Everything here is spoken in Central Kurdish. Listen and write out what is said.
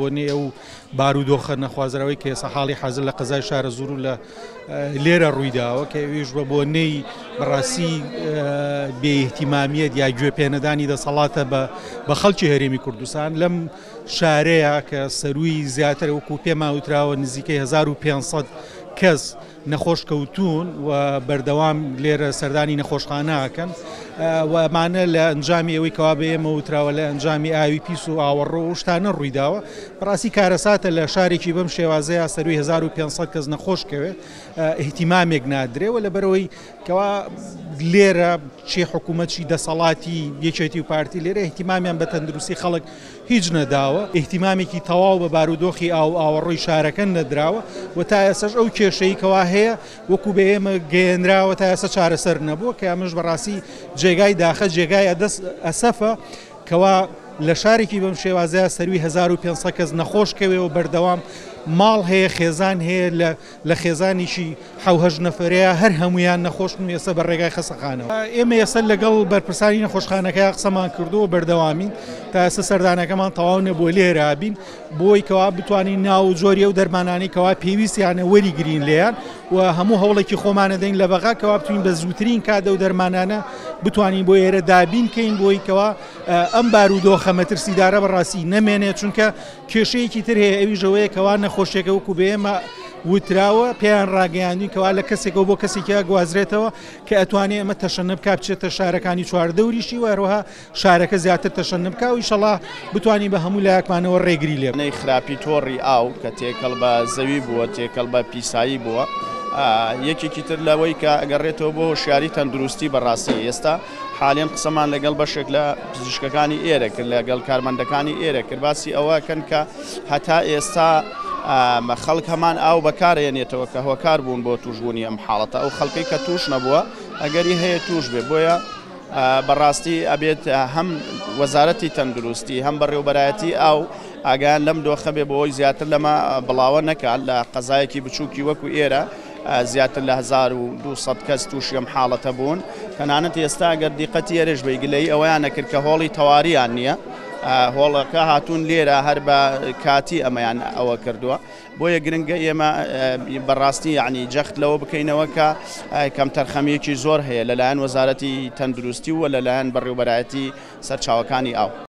بۆنەی ئەو بارودۆخە نەخوازراوەی کە ئێستا حاڵی حازر لە قەزای شارەزوور و لە لێرە ڕوویداوە کە ئەویش بە بۆنەی بەڕاستی بێئیهتیمامیەت یا گوێ پێنەدانی دەسەڵاتە بە خەڵکی هەرێمی کوردستان لەم شارەیە کە سەرووی زیاتر وەکو پێمان وتراوە نزیکەی 1500 کەس نەخۆش کەوتوون و بەردەوام لێرە سەردانی نەخۆشخانە ئەکەن و ئەمانە لە ئەنجامی ئەوەی کەوا بە ئێمە وتراوە لە ئەنجامی ئاوی پیس و ئاوەڕۆ و شتانە ڕوویداوە. بەڕاستی کارەساتە لە شارێکی بەم شێوازەیە سەروی 1500 کەس نەخۆش کەوێ ئیهتیمامێک نادرێ و لەبەرئەوەی کەوا لێرە چی حکوومەت چی دەسەڵاتی یەکێتی و پارتی لێرە ئیهتیمامیان بە تەندروستی خەڵک هیچ نەداوە، ئیهتیمامێکی تەواو بە بارودۆخی ئاو و ئاوەڕۆی شارەکە نەدراوە و تا ئێستاش ئەو کێشەی کەوا هەیە وەکو بە ئێمە گەیەنراوە تا ئێستا چارەسەر نەبووە کە ئەمەش بەڕاستی جێگای داخە جێگای ئەسەفە کەوا لە شارێکی بەم شێوازەیە سەروی 1500 کەس نەخۆش کەوێ و بەردەوام ماڵ هەیە خێزان هەیە لە لە خێزانێکی حەو هەشت نەفەرەیە هەر هەموویان نەخۆشن و ئێستا بە ڕێگای خەسەخانەوە. ئێمە ئێستا لەگەڵ بەرپرسانی نەخۆشخانەکە قسەمان کردووە و بەردەوامین تا ئێستا سەردانەکەمان تەواو نەبووە لێرە بین بۆی کەوا بتوانین ناو و جۆری ئەو دەرمانانەی کەوا پێویستیانە وەریگرین لێیان و هەموو هەوڵێکی خۆمانەدەین لە بەغا کەوا بتوانین بە زووترین کات ئەو دەرمانانە بتوانین بۆ ئێرە دابین کەین بۆی کەوا ئەم بارودۆخە مەترسیدارە بەڕاستی نەمێنێت چونکە کێشەیەکی تر هەیە ئەویش ئەوەیە کەوا نەخۆشیەکە وەکو بە ئێمە وتراوە پێیان ڕاگەیاندوین کەوا لە کەسێکەوە بۆ کەسێکی گوازرێتەوە کە ئەتوانێ ئەمە تەشەنە بکا بچێتە شارەکانی چواردەوریشی و هەروەها شارەکە زیاتر تەشەنە بکا و ئیشەڵا بتوانین بە هەموو لایەکمانەوە ڕێگری لێ بکەین. خراپی تۆڕی ئاو کە تێکەڵ بە زەوی بووە، تێکەڵ بە پیسایی بووە، یەکێکی تر لەوەی کە ئەگەڕێتەوە بۆ هۆشیاری تەندروستی بەڕاستی ئێستا حالیەن قسەمان لەگەڵ بەشێک لە پزیشکەکانی ئێرە کرد لەگەڵ کارمەندەکانی ئێرە کرد باسی ئەوە کەن کە هەتا ئێستا خەڵک هەمان ئاو بەکارێنێتەوە کە هۆکار بوون بۆ توشبوونی ئەم حاڵەتە ئەو خەڵکەی کە توش نەبووە ئەگەری هەیە توش بێ بۆیە بەڕاستی ئەبێت هەم وەزارەتی تەندروستی هەم بەڕێوبەرایەتی ئاو ئاگایان لەم دۆخە بێ بۆ ئەوەی زیاتر لەمە بڵاوە نەکات لە قەزایەکی بچووکی وەکو ئێرە زیاتر لە 1200 کەس تووشی ئەم حاڵەتە بوون تەنانەت ئێستا گەر دیقەتی ئێرەش بەی گلەیی ئەوەیان نەکرد کە هۆڵی تەواریان نییە هۆڵەکە هاتوون لێرە هەر بە کاتی ئەمەیان ئەوە کردووە بۆیە گرنگە ئێمە بەڕاستی یعنی جەخت لەوە بکەینەوە کە کەمتەرخەمیەکی زۆر هەیە لەلایەن وەزارەتی تەندروستی و لەلایەن بەڕێوبەرایەتی سەرچاوەکانی ئاو.